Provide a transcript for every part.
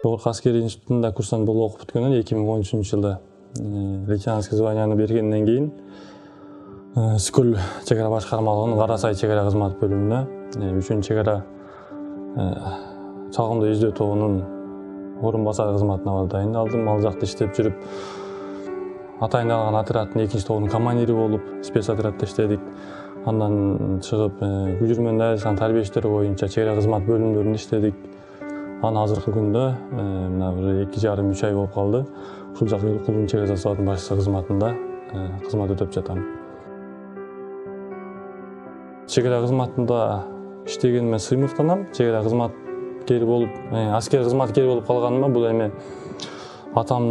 Жогорку аскерий институтунда курсант болуп окуп бүткөндөн 2013-жылы лейтенантский званияны бергенден кийин Скөл чек ара башкармалыгынын Кара Сай чек ара кызмат бөлүмүнө 3-чек ара чалгындоо издөө тобунун орун басары кызматына дайындалдым. Ал жакта иштеп жүрүп атайындалган отряддын 2-тобунун командири болуп спецотрядда иштедик. Андан чыгып Күжүрмөн дайрасынын тарбиештери боюнча чек ара кызмат бөлүмдөрүндө иштедик. Анан азыркы күндө мына бир 2,5-3 ай болуп калды. Ушул жак эл кулунун чек ара заставынын башчысы кызматында кызмат өтөп жатам. Чек ара кызматында иштегениме сыймыктанам. Чек ара кызматкери болуп, аскер кызматкери болуп калганыма бул эми атам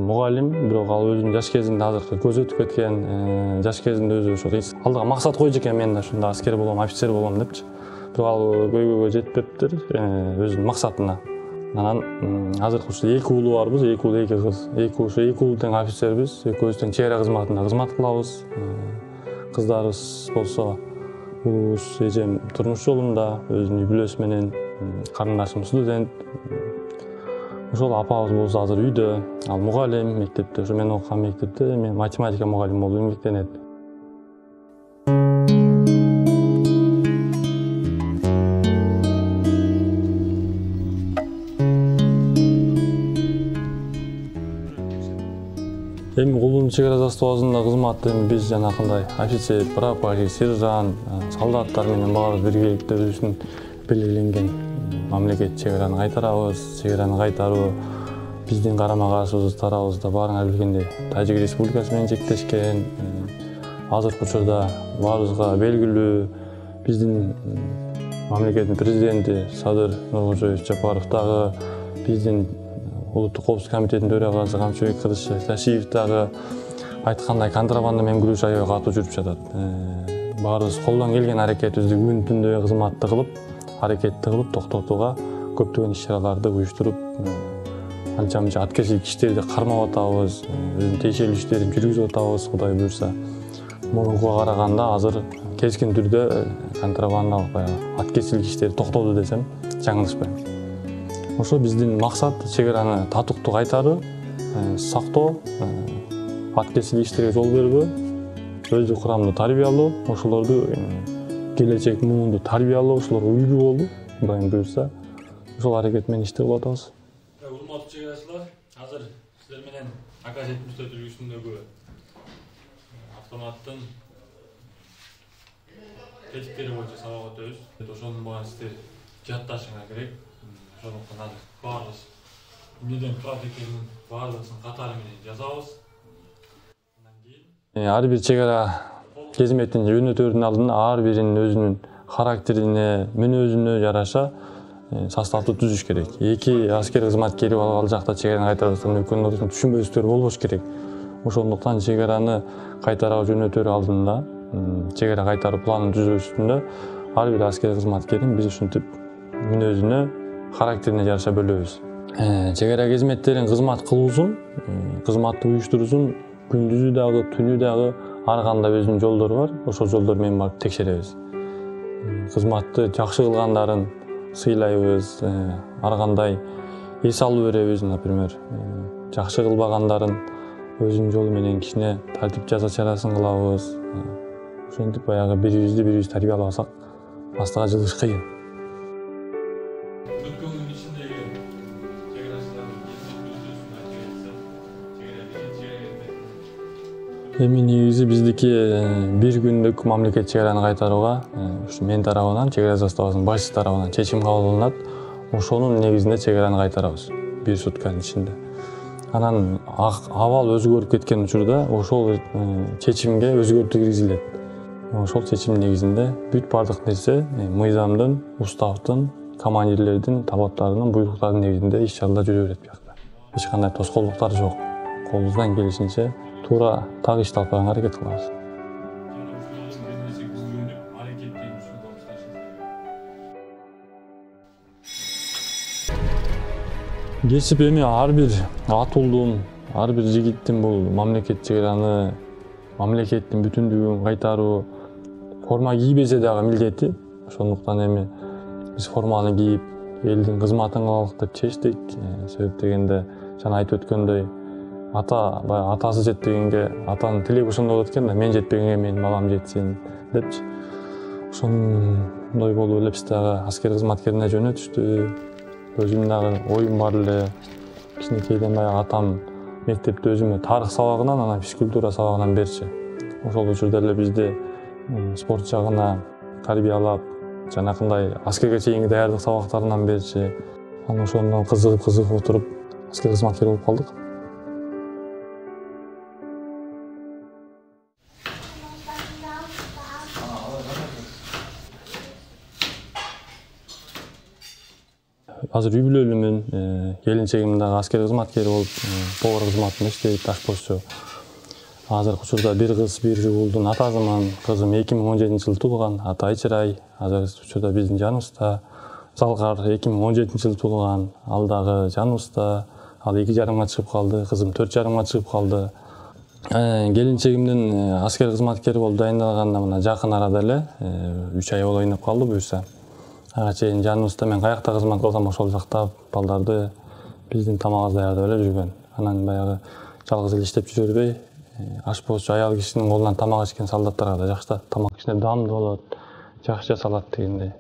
мугалим, бирок ал өзүнүн жаш кезинде азыркы көзү өтүп кеткен, жаш кезинде өзү ошо алдыга максат койчу экен, мен да ушундай аскер болом, офицер болом депчи. Бирок ал көйгөйгө жетпептир өзүнүн максатына. Анан азыркы ушул 2 уулу барбыз, 2 уул 2 кыз. 2 уулу тең офицербиз, экөөбүз тең чек ара кызматында кызмат кылабыз. Кыздарыбыз болсо уулубуз эжем турмуш жолунда, өзүнүн үй бүлөсү менен, карындашым студент. Ошол апабыз болсо азыр үйдө, ал мугалим, мектепте, ошо мен окуган мектепте мен математика мугалими болуп эмгектенет. Эми кулунун чек ара заставасында кызматты биз жанакындай офицер, прапорщик, сержант, солдаттар менен баарыбыз биргеликте өзүбүздүн белгиленген мамлекет чек араны кайтарабыз. Чек араны кайтаруу биздин карама каршыбыз тарабыбызда баарыңар билгендей Тажик Республикасы менен чектешкен. Азыркы учурда баарыбызга белгилүү биздин мамлекеттин президенти Садыр Нуркожоевич Жапаров дагы, биздин Улуттук коопсуздук комитетинин төрагасы Камчыбек Кыдыршев дагы айткандай контрабанда менен күрөш аябай катуу жүрүп жатат. Баарыбыз колдон келген аракетибизди күн түндө кызматты кылып, аракетти кылып токтотууга көптөгөн иш-чараларды уюштуруп, анча-мынча аткерчилик иштерди кармап атабыз, өзүнүн тиешелүү иштерин жүргүзүп атабыз, Кудай буюрса. Мурункуга караганда азыр кескин түрдө контрабандалык баягы аткерчилик иштери токтоду десем жаңылышпайм. Ошо биздин максат чек араны татыктуу кайтаруу, сактоо, аткерчилик иштерге жол бербөө, өзү курамдуу тарбиялоо, ошолорду келечек муунду тарбиялоо, ошолорго үлгү болуу, Кудайым буюрса, ошол аракет менен иштеп атабыз. Урматтуу чек арачылар, азыр сиздер менен АК-74 үлгүсүндөгү автоматтын тесттери боюнча сабак өтөбүз. Ошонун баарын сиздер жатташыңар керек. Ошондуктан азыр баарыбыз эмнеден турат экенин баардыгысын катары менен жазабыз. Андан кийин Ар бир чек ара кызметтин жөнөтөрүнүн алдында ар биринин өзүнүн характерине, мүнөзүнө жараша составды түзүш керек. 2 аскер кызматкери ал жакта чек араны кайтарып экөөнүн ортосунда түшүнбөстөр болбош керек. Ошондуктан чек араны кайтаруу жөнөтөр алдында, чек ара кайтаруу планын түзүү үстүндө ар бир аскер кызматкерин биз ушинтип мүнөзүнө, характерине жараша бөлөбүз. Чек ара кызметтерин кызмат кылуусун, кызматты уюштуруусун күндүзү дагы, түнү дагы ар кандай өзүнүн жолдору бар. Ошол жолдор менен барып текшеребиз. Кызматты жакшы кылгандарын сыйлайбыз, ар кандай эс алуу беребиз, например. Жакшы кылбагандарын өзүнүн жолу менен кичине тартип жаза чарасын кылабыз. Ошентип баягы бири-бирибизди тарбиялабасак, астыга жылыш кыйын. Эми негизи биздики бир күндүк мамлекет чек араны кайтарууга ушу мен тарабынан, чек ара заставасынын башчысы тарабынан чечим кабыл кылынат. Ошонун негизинде чек араны кайтарабыз бир сутканын ичинде. Анан абал өзгөрүп кеткен учурда ошол чечимге өзгөртүү киргизилет. Ошол чечим негизинде бүт бардык нерсе мыйзамдын, уставдын, командирлердин талаптарынын, буйруктарынын негизинде иш-чаралар жүрө берет биякта. Эч кандай тоскоолдуктар жок. Колубуздан келишинче туура так ишти алып барганга аракет кылабыз. Кесип эми ар бир атуулдун, ар бир жигиттин бул мамлекет чек араны, мамлекеттин бүтүндүгүн кайтаруу, форма кийбесе дагы милдети. Ошондуктан эми биз форманы кийип элдин кызматын кылалык деп чечтик. Себеп дегенде жана айтып өткөндөй баягы атасы жетпегенге атанын тилеги ошондой болот экен да, мен жетпегенге менин балам жетсин депчи. Ошондой болуп эле биз дагы аскер кызматкерине жөнөтүштү. Өзүм дагы оюм бар эле. Кичинекейден баягы атам мектепте өзүмө тарых сабагынан, анан физкультура сабагынан берчи. Ошол учурда эле бизди спорт жагына тарбиялап, жанакындай аскерге чейинки даярдык сабактарынан берчи. Анан ошондон кызыгып отуруп аскер кызматкери болуп калдык. Азыр үй бүлөлүүмүн. Келинчегим дагы аскер кызматкери болуп, повар кызматында иштейт, ашпозчу. Азыркы учурда бир кыз, бир уулдун атасымын. Кызым 2017-жылы туулган, аты Айчырай. Азыркы учурда биздин жаныбызда. Залкар 2017-жылы туулган, ал дагы жаныбызда. Ал 2,5 чыгып калды, кызым 4,5 чыгып калды. Келинчегимдин аскер кызматкери болуп дайындалганына мына жакын арада эле 3 ай болоюн деп калды буюрса. Ага чейин жаныбызда мен каякта кызмат кылсам ошол жакта балдарды биздин тамагыбызды даярдап эле жүргөн. Анан баягы жалгыз эле иштеп жүрө бербей, ашпозчу аял кишинин колунан тамак ичкен солдаттарга да жакшы да, тамак кичине даамдуу болот, жакшы жасалат дегендей.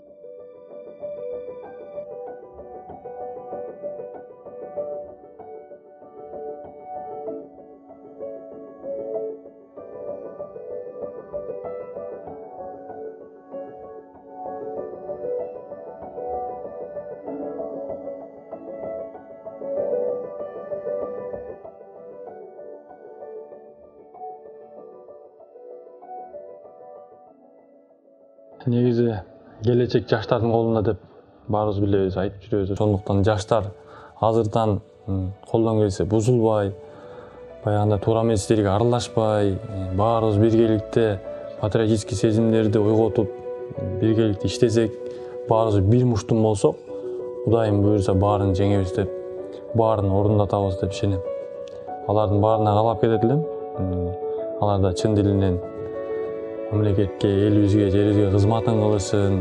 Негизи келечек жаштардын колунда деп баарыбыз билебиз, айтып жүрөбүз. Ошондуктан жаштар азырдан колдон келсе бузулбай, баягындай туура эмес иштерге аралашпай, баарыбыз биргеликте патриотический сезимдерди ойготуп, биргеликте иштесек, баарыбыз бир муштум болсок, Кудайым буюрса баарын жеңебиз деп, баарын орундатабыз деп ишенем. Алардын баарына каалап кетет элем. Алар да чын дилинен мамлекетке, элибизге, жерибизге кызматын кылышын.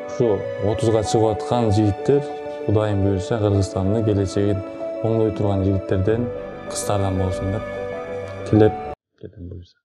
Ушу 30га чыгып аткан жигиттер, Кудайым буюрса, Кыргызстандын келечегин оңдой турган жигиттерден, кыздардан болсун деп тилеп кетем буюрса.